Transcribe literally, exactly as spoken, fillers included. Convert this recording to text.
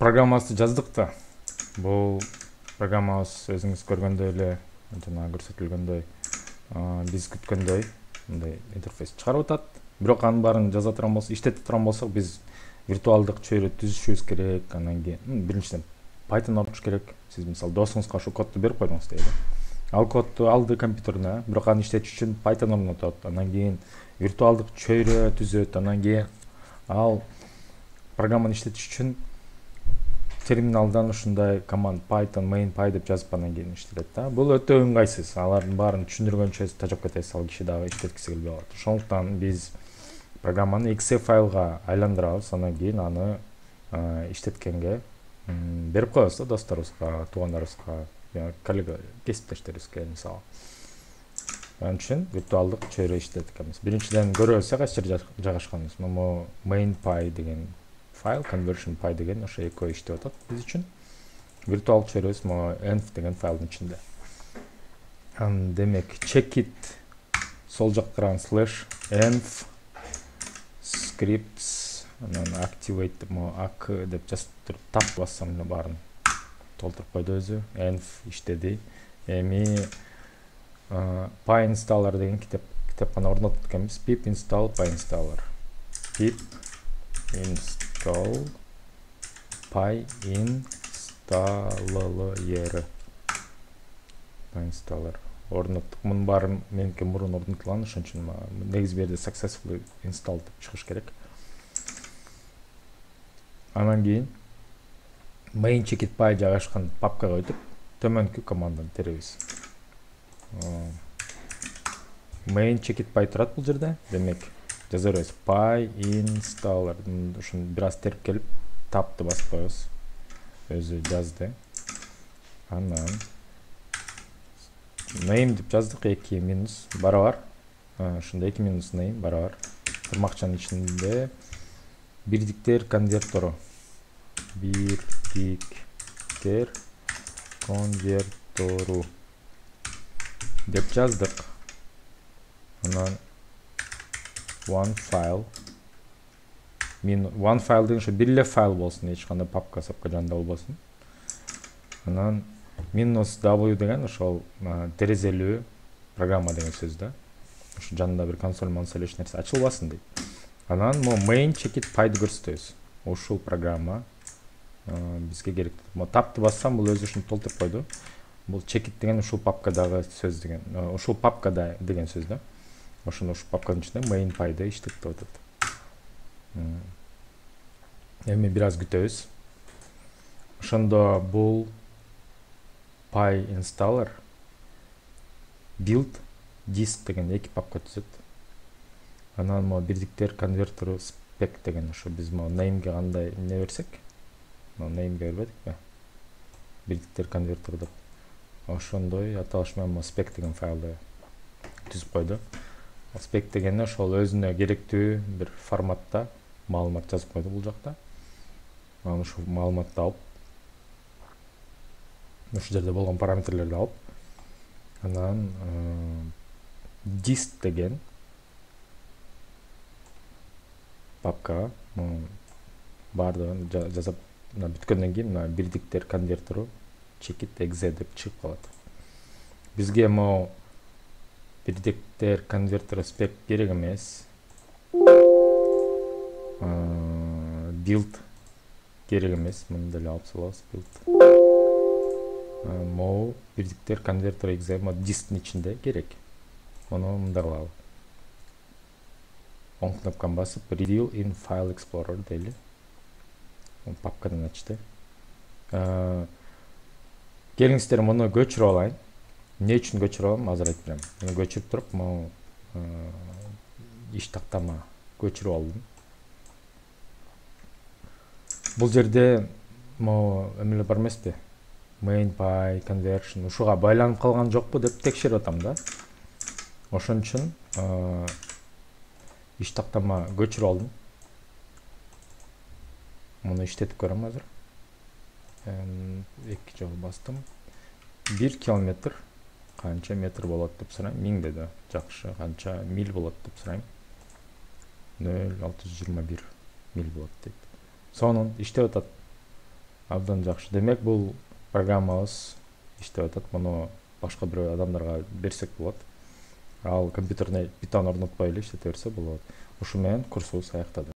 программасы жаздык да. Бул программабыз өзүңүз көргөндөй эле жана көрсөтүлгөндөй биз күткөндөй мындай интерфейс чыгарып атат. Бирок анын баарын жаза турган болсок, иштете турган болсок, биз виртуалдык чөйрө түзүшүбүз керек. Анан кийин биринчиден Python окуш керек. Сиз мисалы досуңузга ошол кодду берип койдуңуз дейли. Ал кодду алды компьютерине, бирок аны иштетиш үчүн Python орнотот. Анан кийин виртуалдык чөйрө түзөт. Анан кийин ал программаны иштетиш үчүн терминалдан ушундай команд Python main.py деп жазып анан кийин иштетет да. Бул өтө ыңгайсыз. Алардын баарын түшүндүргөнчө тажап кетесиз, ал киши дагы иштеткиси келбей калат. Ошондуктан биз программаны Exe файлга айландырабыз, анан кийин аны иштеткенге берип коебуз да досторубузга, туугандарыбызга, коллега, кесиптештерибизге мисалы. Анын үчүн виртуалдык чөйрө иштетип экенбиз. Биринчиден көрөбүз кайсы жерде жайгашканын. Могу main.py деген файл, conversion.py деген ошо экөө иштеп атат биз үчүн. Виртуалдык чөйрөбүз могу env деген файлдын ичинде. Ан демек checkit сол жакка караган slash env scripts анан activate mo ak деп жазып туруп тап бассам баарын толтуруп койду өзү. Env иштеди. Эми py installer деген китеп китапканы орнотуп экенбиз. Pip install py installer. Pip install py installer. Py installer орноттук. Мунун баары меники мурун орнотулган, ошон үчүн негизи берде successfully install деп чыгыш керек. Анан кийин main checkit py жайгашкан папкага өтүп, төмөнкү команданы теребиз. Main checkit py турат бул жерде. Демек жаза беребиз py installer. Ушуну бир аз терип келип тапты басып коебуз. Өзү жазды. Анан name деп жаздык, эки минус барабар. Ошондо эки минус name барабар. Тырмакчанын ичинде бирдиктер конвертору. Бирдиктер конвертору деп жаздык. Анан one file min one file деген ошо бир эле файл болсун, эч кандай папка сапка жанында болбосун. Анан minus w деген ошол терезелүү программа деген сөз да. Ошо жанында бир консоль мансоль эч нерсе ачылбасын дейт. Анан мо main checkit py'ды көрсөтөбүз. Ушул программа бизге керек. Мо тапты бассам бул өзү ушуну толтуруп койду. Бул checkit деген ушул папкадагы сөз деген. Ушул папкада деген сөз да. Ошону ушул папканын ичинде main py'ды иштетип атат. Эми бир аз күтөбүз. Ошондо бул py installer build disk деген эки папка түзөт. Анан мо бирдиктер конвертору spec деген ошо биз мо name'ге кандай эмне берсек, мо name'ге бербедикпи? Бирдиктер конвертору деп. Ошондой аталыш менен мо spec деген файлды түзүп койду. Spec дегени ошол өзүнө керектүү бир форматта маалымат жазып койду бул жакта. Анан ушул маалыматты алып, ушул жерде болгон параметрлерди алып, анан disk деген папка баардыгын жазып бүткөндөн кийин мына бирдиктер конвертору checkit exe деп чыгып калат. Бизге мо бирдиктер конвертору spec керек эмес. Build керек эмес. Муну деле алып салабыз build. Мо бирдиктер конвертору exe мо дисктин ичинде керек. Муну мындай кылалы. Он кнопканы басып reveal in file explorer дейли. Папкадан ачты. Келиңиздер муну көчүрүп алайын. Эмне үчүн көчүрүп алам, азыр айтып берем. Муну көчүрүп туруп, могу иш тактама көчүрүп алдым. Бул жерде могу эмелер бар эмеспи? main.py conversion ушуга байланып калган жокпу деп текшерип атам да. Ошон үчүн иш тактама көчүрүп алдым. Муну иштетип көрөм азыр. эки жолу бастым. бир километр канча метр болот деп сурайм. миң деди. Жакшы, канча миль болот деп сурайм. нөл алты жүз жыйырма бир миль болот дейт. Сонун иштеп атат. абдан жакшы. Демек бул программабыз иштеп атат. Муну башка бир адамдарга берсек болот. Ал компьютерине Python орнотпой эле иштете берсе болот. Ушу менен курсубуз аяктады.